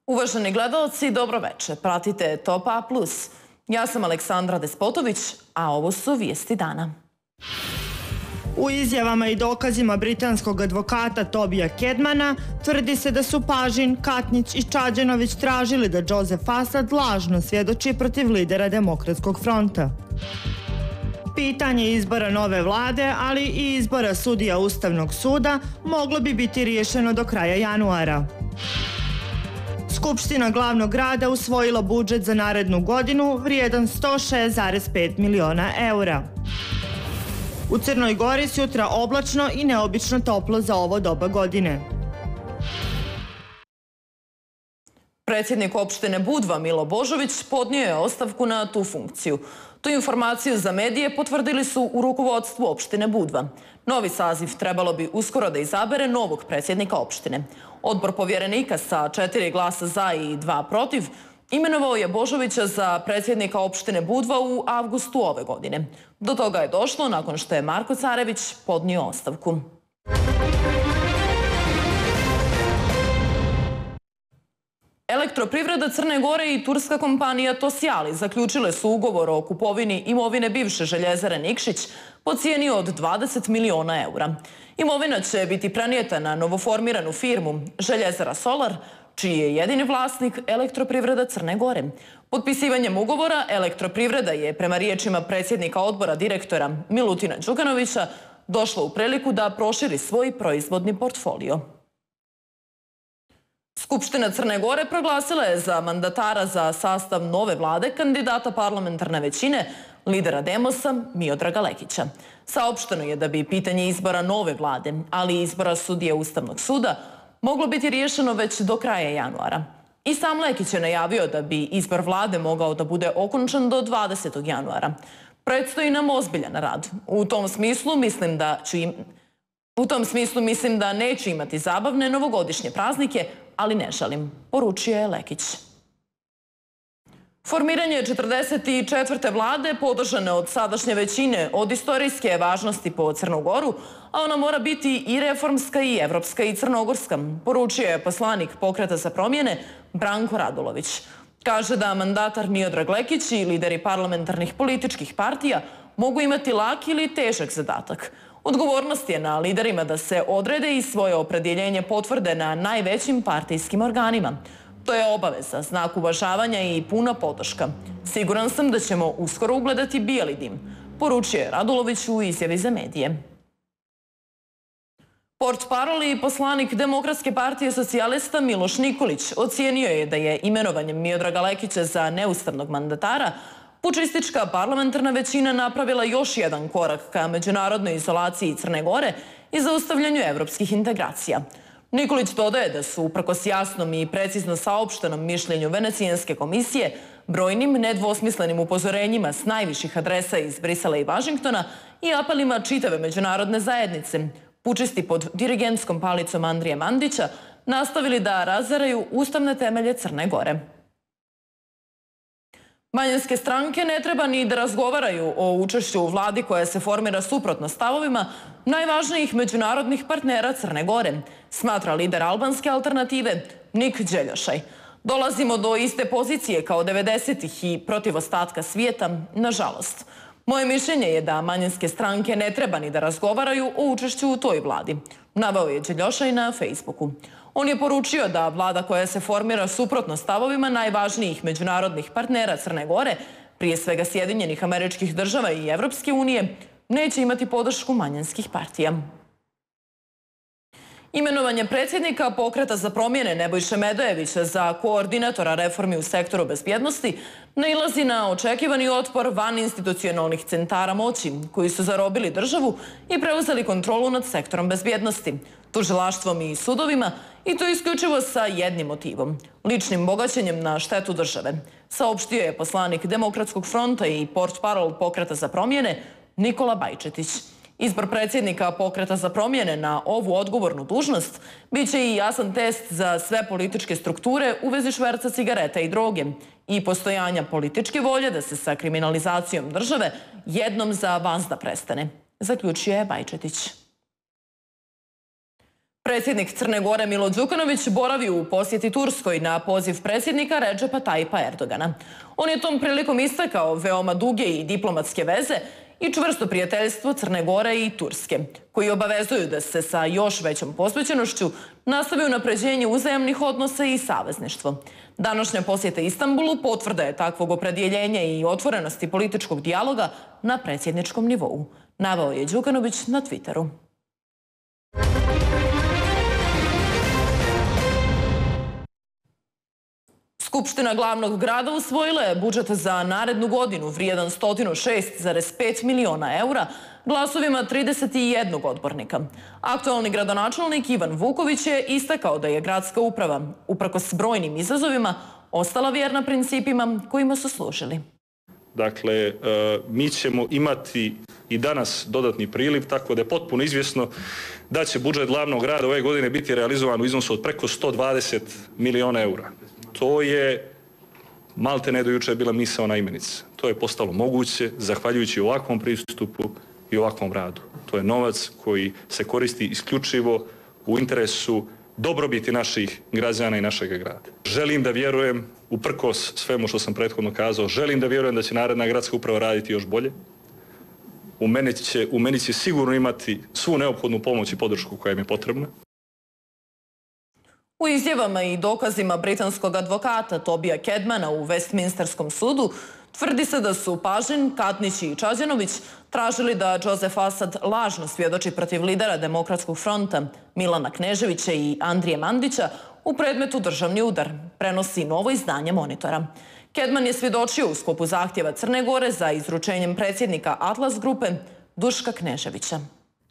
Uvaženi gledalci, dobroveče. Pratite Top A+. Ja sam Aleksandra Despotović, a ovo su vijesti dana. U izjavama i dokazima britanskog advokata Tobija Kedmana tvrdi se da su Pažin, Katnić i Čađanović tražili da Joseph Assad lažno svjedoči protiv lidera Demokratskog fronta. Pitanje izbora nove vlade, ali i izbora sudija Ustavnog suda moglo bi biti riješeno do kraja januara. Skupština glavnog grada usvojila budžet za narednu godinu vrijedan 106,5 miliona eura. U Crnoj Gori sutra oblačno i neobično toplo za ovo doba godine. Predsjednik opštine Budva Milo Božović podnio je ostavku na tu funkciju. Tu informaciju za medije potvrdili su u rukovodstvu opštine Budva. Novi saziv trebalo bi uskoro da izabere novog predsjednika opštine. Odbor povjerenika sa 4 glasa za i 2 protiv imenovao je Božovića za predsjednika opštine Budva u avgustu ove godine. Do toga je došlo nakon što je Marko Carević podnio ostavku. Elektroprivreda Crne Gore i turska kompanija Tosjali zaključile su ugovor o kupovini imovine bivše željezare Nikšić po cijeni od 20 miliona eura. Imovina će biti prenijeta na novoformiranu firmu Željezara Solar, čiji je jedini vlasnik Elektroprivreda Crne Gore. Potpisivanjem ugovora Elektroprivreda je, prema riječima predsjednika odbora direktora Milutina Đukanovića, došla u priliku da proširi svoj proizvodni portfolio. Skupština Crne Gore proglasila je za mandatara za sastav nove vlade kandidata parlamentarne većine, lidera Demosa Miodraga Lekića. Saopšteno je da bi pitanje izbora nove vlade, ali i izbora sudije Ustavnog suda, moglo biti riješeno već do kraja januara. I sam Lekić je najavio da bi izbor vlade mogao da bude okončan do 20. januara. Predstoji nam ozbiljan rad. U tom smislu mislim da neću imati zabavne novogodišnje praznike, ali ne žalim, poručio je Lekić. Formiranje 44. vlade podržane od sadašnje većine od istorijske važnosti po Crnu Goru, a ona mora biti i reformska i evropska i crnogorska, poručio je poslanik Pokreta za promjene Branko Radulović. Kaže da mandatar Miodrag Lekić i lideri parlamentarnih političkih partija mogu imati lak ili težak zadatak. Odgovornost je na liderima da se odrede i svoje opredjeljenje potvrde na najvećim partijskim organima. To je obaveza, znak uvažavanja i puna podrška. Siguran sam da ćemo uskoro ugledati bijeli dim, poručio je Radulović u izjavi za medije. Portparol i poslanik Demokratske partije socijalista Miloš Nikolić ocijenio je da je imenovanjem Miodraga Lekića za neustavnog mandatara pučistička parlamentarna većina napravila još jedan korak ka međunarodnoj izolaciji Crne Gore i zaustavljanju evropskih integracija. Nikolić dodaje da su, uprkos jasnom i precizno saopštenom mišljenju Venecijanske komisije, brojnim nedvosmislenim upozorenjima s najviših adresa iz Brisela i Vašingtona i apelima čitave međunarodne zajednice, pučisti pod dirigentskom palicom Andrije Mandića nastavili da razaraju ustavne temelje Crne Gore. Manjinske stranke ne treba ni da razgovaraju o učešću u vladi koja se formira suprotno stavovima najvažnijih međunarodnih partnera Crne Gore, smatra lider albanske alternative Nik Đeljošaj. Dolazimo do iste pozicije kao 90-ih i protiv ostatka svijeta, nažalost. Moje mišljenje je da manjinske stranke ne treba ni da razgovaraju o učešću u toj vladi, naveo je Đeljošaj na Facebooku. On je poručio da vlada koja se formira suprotno stavovima najvažnijih međunarodnih partnera Crne Gore, prije svega Sjedinjenih Američkih Država i Evropske unije, neće imati podršku manjinskih partija. Imenovanje predsjednika Pokreta za promjene Nebojše Medojevića za koordinatora reformi u sektoru bezbjednosti nailazi na očekivani otpor vaninstitucionalnih centara moći koji su zarobili državu i preuzeli kontrolu nad sektorom bezbjednosti, tužilaštvom i sudovima, i to isključivo sa jednim motivom – ličnim bogaćenjem na štetu države, saopštio je poslanik Demokratskog fronta i portparol Pokreta za promjene Nikola Bajčetić. Izbor predsjednika Pokreta za promjene na ovu odgovornu dužnost biće i jasan test za sve političke strukture u vezi šverca cigareta i droge i postojanja političke volje da se sa kriminalizacijom države jednom za vazda prestane, zaključio je Bajčetić. Predsjednik Crne Gore Milo Đukanović boravi u posjeti Turskoj na poziv predsjednika Redžepa Tajipa Erdogana. On je tom prilikom istakao veoma duge i diplomatske veze i čvrsto prijateljstvo Crne Gore i Turske, koji obavezuju da se sa još većom posvećenošću nastavi unapređenje uzajamnih odnosa i savezništvo. Današnja posjeta Istanbulu potvrda je takvog opredjeljenja i otvorenosti političkog dijaloga na predsjedničkom nivou, naveo je Đukanović na Twitteru. Skupština glavnog grada usvojila je budžet za narednu godinu vrijedan 106,5 miliona eura glasovima 31 odbornika. Aktualni gradonačelnik Ivan Vuković je istakao da je gradska uprava, uprkos brojnim izazovima, ostala vjerna principima kojima su služili. Dakle, mi ćemo imati i danas dodatni priliv, tako da je potpuno izvjesno da će budžet glavnog grada ove godine biti realizovan u iznosu od preko 120 miliona eura. To je maltene do jučer bila misaona imenica. To je postalo moguće zahvaljujući ovakvom pristupu i ovakvom radu. To je novac koji se koristi isključivo u interesu dobrobiti naših građana i našeg grada. Želim da vjerujem, uprkos svemu što sam prethodno kazao, želim da vjerujem da će naredna gradska uprava raditi još bolje. U meni će sigurno imati svu neophodnu pomoć i podršku koja im je potrebna. U izjavama i dokazima britanskog advokata Tobija Kedmana u Westminsterskom sudu tvrdi se da su Pažin, Katnić i Čađanović tražili da Joseph Asad lažno svjedoči protiv lidera Demokratskog fronta Milana Kneževića i Andrije Mandića u predmetu Državni udar, prenosi novo izdanje Monitora. Kedman je svjedočio u sklopu zahtjeva Crne Gore za izručenjem predsjednika Atlas grupe Duška Kneževića.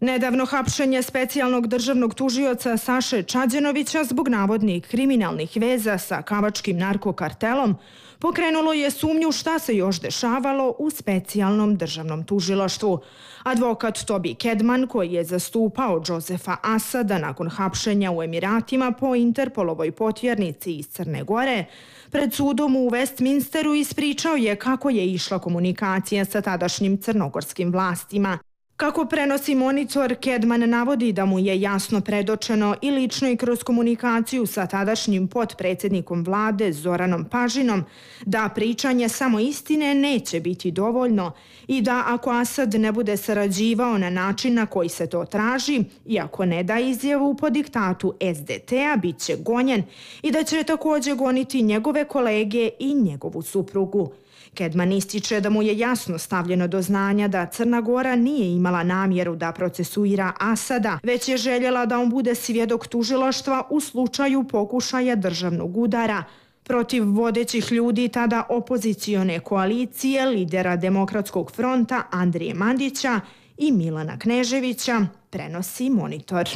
Nedavno hapšenje specijalnog državnog tužioca Saše Čađanovića zbog navodnih kriminalnih veza sa kavačkim narkokartelom pokrenulo je sumnju šta se još dešavalo u specijalnom državnom tužilaštvu. Advokat Toby Kedman, koji je zastupao Josefa Asada nakon hapšenja u Emiratima po Interpolovoj potjernici iz Crne Gore, pred sudom u Westminsteru ispričao je kako je išla komunikacija sa tadašnjim crnogorskim vlastima. Kako prenosi Monitor, Kedman navodi da mu je jasno predočeno i lično i kroz komunikaciju sa tadašnjim potpredsjednikom vlade Zoranom Pažinom da pričanje samo istine neće biti dovoljno i da ako Asad ne bude sarađivao na način na koji se to traži i ako ne da izjavu po diktatu SDT-a, bit će gonjen i da će također goniti njegove kolege i njegovu suprugu. Kedman ističe da mu je jasno stavljeno do znanja da Crna Gora nije imala namjeru da procesuira Asada, već je željela da on bude svjedok tužilaštva u slučaju pokušaja državnog udara protiv vodećih ljudi tada opozicione koalicije, lidera Demokratskog fronta Andrije Mandića i Milana Kneževića, prenosi Monitor.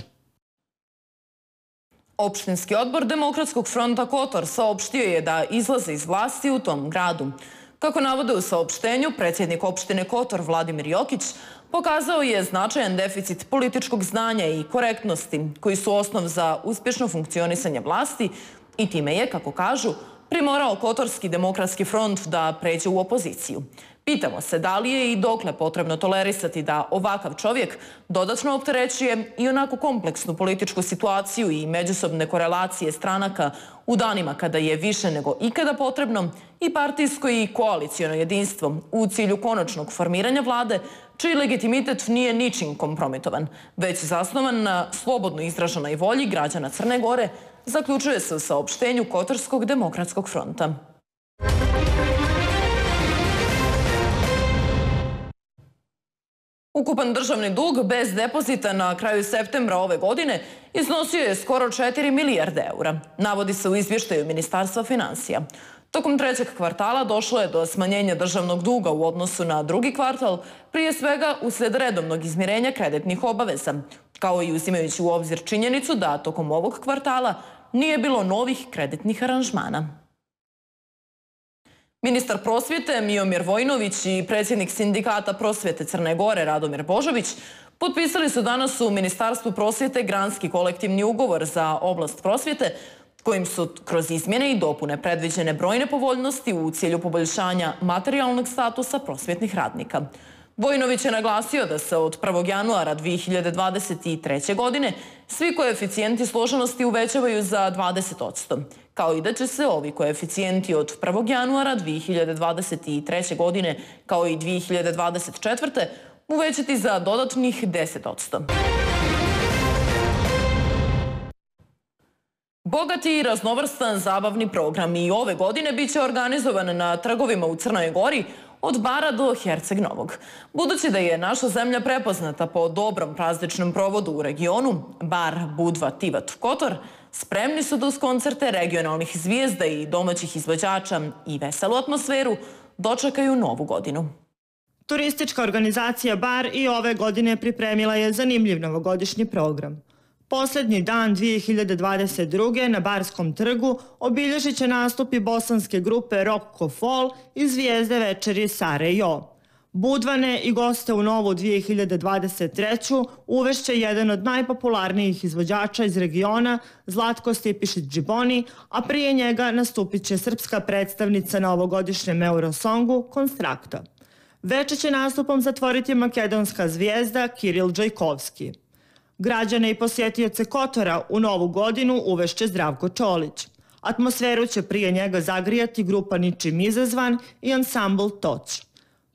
Opštinski odbor Demokratskog fronta Kotor saopštio je da izlaze iz vlasti u tom gradu. Kako navode u saopštenju, predsjednik opštine Kotor Vladimir Jokić pokazao je značajan deficit političkog znanja i korektnosti koji su osnov za uspješno funkcionisanje vlasti i time je, kako kažu, primorao Kotorski demokratski front da pređe u opoziciju. Pitamo se da li je i dokle potrebno tolerisati da ovakav čovjek dodatno opterećuje i onako kompleksnu političku situaciju i međusobne korelacije stranaka u danima kada je više nego ikada potrebno i partijsko i koaliciono jedinstvo u cilju konačnog formiranja vlade, čiji legitimitet nije ničim kompromitovan, već zasnovan na slobodno izraženoj volji građana Crne Gore, zaključuje se u saopštenju Kotorskog demokratskog fronta. Ukupan državni dug bez depozita na kraju septembra ove godine iznosio je skoro 4 milijarde eura, navodi se u izvještaju Ministarstva financija. Tokom trećeg kvartala došlo je do smanjenja državnog duga u odnosu na drugi kvartal, prije svega uslijed redovnog izmirenja kreditnih obaveza, kao i uzimajući u obzir činjenicu da tokom ovog kvartala nije bilo novih kreditnih aranžmana. Ministar prosvjete Miomir Vojnović i predsjednik Sindikata prosvjete Crne Gore Radomir Božović potpisali su danas u Ministarstvu prosvjete granski kolektivni ugovor za oblast prosvjete, kojim su kroz izmjene i dopune predviđene brojne povoljnosti u cilju poboljšanja materijalnog statusa prosvjetnih radnika. Vojinović je naglasio da se od 1. januara 2023. godine svi koeficijenti složenosti uvećavaju za 20%, kao i da će se ovi koeficijenti od 1. januara 2023. godine, kao i 2024. uvećati za dodatnih 10%. Bogati i raznovrstan zabavni program i ove godine biće organizovan na trgovima u Crnoj Gori od Bara do Herceg Novog. Budući da je naša zemlja prepoznata po dobrom prazničnom provodu u regionu, Bar, Budva, Tivat, Kotor, spremni su da uz koncerte regionalnih zvijezda i domaćih izvođača i veselu atmosferu dočekaju novu godinu. Turistička organizacija Bar i ove godine pripremila je zanimljiv novogodišnji program. Posljednji dan 2022. na Barskom trgu obilježit će nastupi bosanske grupe Rock Ko Fol i zvijezde večeri Sare Jo. Budvane i goste u novu 2023. uvešće jedan od najpopularnijih izvođača iz regiona, Zlatko Stipišić-Džiboni, a prije njega nastupit će srpska predstavnica na ovogodišnjem Eurosongu Konstrakta. Večer će nastupom zatvoriti makedonska zvijezda Kiril Džajkovski. Građane i posjetioce Kotora u novu godinu uvešće Zdravko Čolić. Atmosferu će prije njega zagrijati grupa Ničim izazvan i ansambl Toć.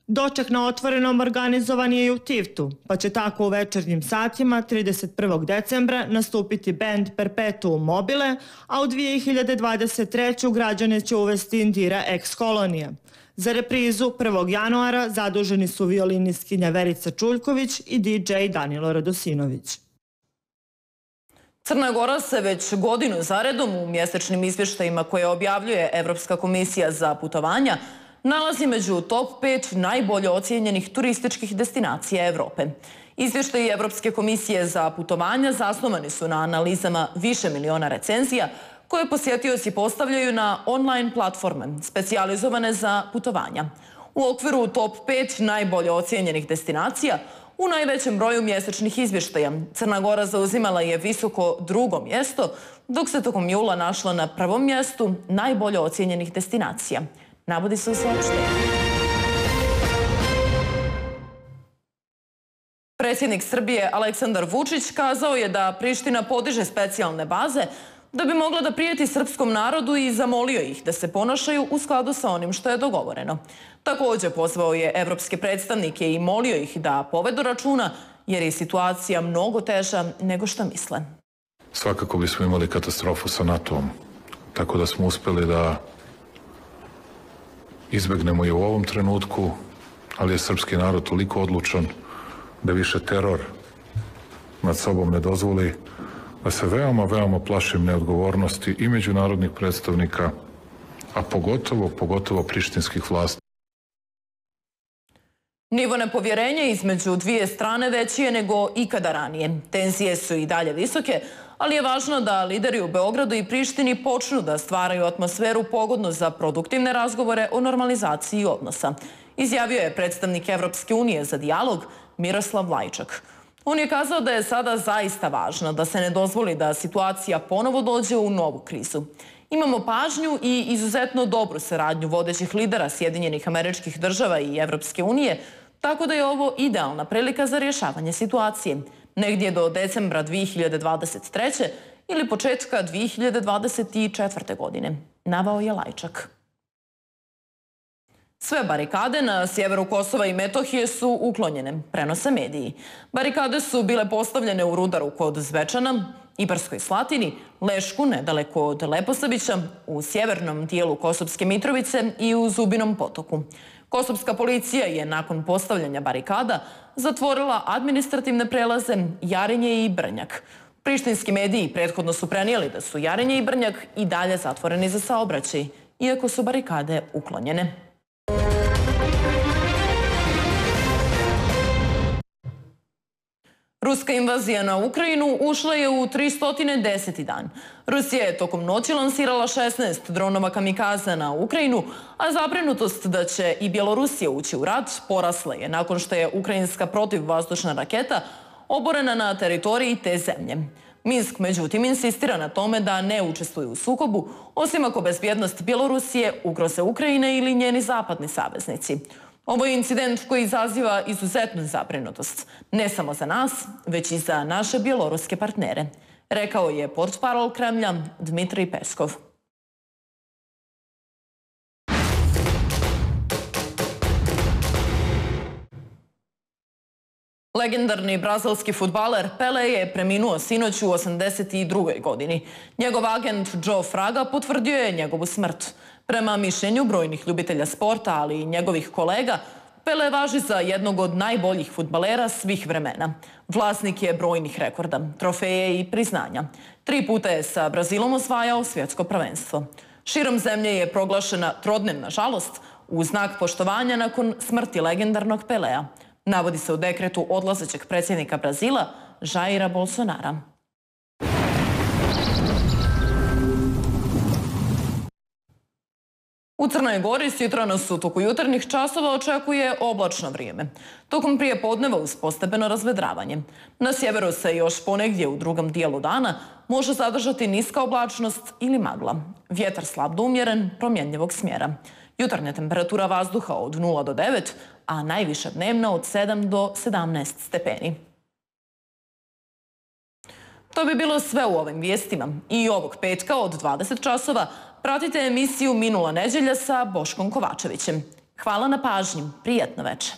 Doček na otvorenom organizovan je i u Tivtu, pa će tako u večernjim satima 31. decembra nastupiti bend Perpetuum Mobile, a u 2023. građane će uvesti Indira Ex Kolonija. Za reprizu 1. januara zaduženi su violinistkinja Verica Čuljković i DJ Danilo Radosinović. Crna Gora se već godinu zaredom u mjesečnim izvještajima koje objavljuje Evropska komisija za putovanja nalazi među top 5 najbolje ocijenjenih turističkih destinacija Evrope. Izvještaji Evropske komisije za putovanja zasnovani su na analizama više miliona recenzija koje posjetioci postavljaju na online platforme specijalizovane za putovanja. U okviru top 5 najbolje ocijenjenih destinacija u najvećem broju mjesečnih izvještaja Crna Gora zauzimala je visoko drugo mjesto, dok se tokom jula našla na prvom mjestu najbolje ocijenjenih destinacija. Navodi se u saopštenju. Predsjednik Srbije Aleksandar Vučić kazao je da Priština podiže specijalne baze da bi mogla da prijeti srpskom narodu i zamolio ih da se ponašaju u skladu sa onim što je dogovoreno. Također pozvao je evropske predstavnike i molio ih da povedu računa jer je situacija mnogo teža nego što misle. Svakako bismo imali katastrofu sa NATO-om, tako da smo uspeli da izbegnemo i u ovom trenutku, ali je srpski narod toliko odlučan da više teror nad sobom ne dozvoli, da se veoma plašim neodgovornosti i međunarodnih predstavnika, a pogotovo prištinskih vlasti. Nivo nepovjerenja između dvije strane veći je nego ikada ranije. Tenzije su i dalje visoke, ali je važno da lideri u Beogradu i Prištini počnu da stvaraju atmosferu pogodnu za produktivne razgovore o normalizaciji odnosa. Izjavio je predstavnik Evropske unije za dijalog Miroslav Lajčak. On je kazao da je sada zaista važno da se ne dozvoli da situacija ponovo dođe u novu krizu. Imamo pažnju i izuzetno dobru saradnju vodećih lidera Sjedinjenih Američkih Država i Evropske unije, tako da je ovo idealna prilika za rješavanje situacije. Negdje do decembra 2023. ili početka 2024. godine, naveo je Lajčak. Sve barikade na sjeveru Kosova i Metohije su uklonjene, prenose mediji. Barikade su bile postavljene u Rudaru kod Zvečana, Ibarskoj Slatini, Lešku nedaleko od Leposavića, u sjevernom dijelu Kosovske Mitrovice i u Zubinom potoku. Kosovska policija je nakon postavljanja barikada zatvorila administrativne prelaze Jarinje i Brnjak. Prištinski mediji prethodno su prenijeli da su Jarinje i Brnjak i dalje zatvoreni za saobraćaj, iako su barikade uklonjene. Ruska invazija na Ukrajinu ušla je u 310. dan. Rusija je tokom noći lansirala 16 dronova kamikaza na Ukrajinu, a zabrinutost da će i Bjelorusija ući u rat porasla je nakon što je ukrajinska protivvazdušna raketa oborena na teritoriji te zemlje. Minsk, međutim, insistira na tome da ne učestvuje u sukobu, osim ako bezbjednost Bjelorusije ugroze Ukrajine ili njeni zapadni saveznici. Ovo je incident koji izaziva izuzetnu zabrinutost, ne samo za nas, već i za naše bjeloruske partnere, rekao je portparol Kremlja Dmitrij Peskov. Legendarni brazilski fudbaler Pele je preminuo sinoć u 82. godini. Njegov agent Joe Fraga potvrdio je njegovu smrt. Prema mišljenju brojnih ljubitelja sporta, ali i njegovih kolega, Pele važi za jednog od najboljih fudbalera svih vremena. Vlasnik je brojnih rekorda, trofeje i priznanja. 3 puta je sa Brazilom osvajao svjetsko prvenstvo. Širom zemlje je proglašena trodnevna žalost u znak poštovanja nakon smrti legendarnog Pelea. Navodi se u dekretu odlazećeg predsjednika Brazila, Jaira Bolsonara. U Crnoj Gori sjutra nas u toku jutarnjih časova očekuje oblačno vrijeme. Tokom prijepodneva uz postepeno razvedravanje. Na sjeveru se još ponegdje u drugom dijelu dana može zadržati niska oblačnost ili magla. Vjetar slab do umjeren, promjenjivog smjera. Jutarnja temperatura vazduha od 0 do 9, a najviša dnevna od 7 do 17 stepeni. To bi bilo sve u ovim vijestima. I ovog petka od 20 časova pratite emisiju Minula nedjelja sa Boškom Kovačevićem. Hvala na pažnji. Prijatno večer.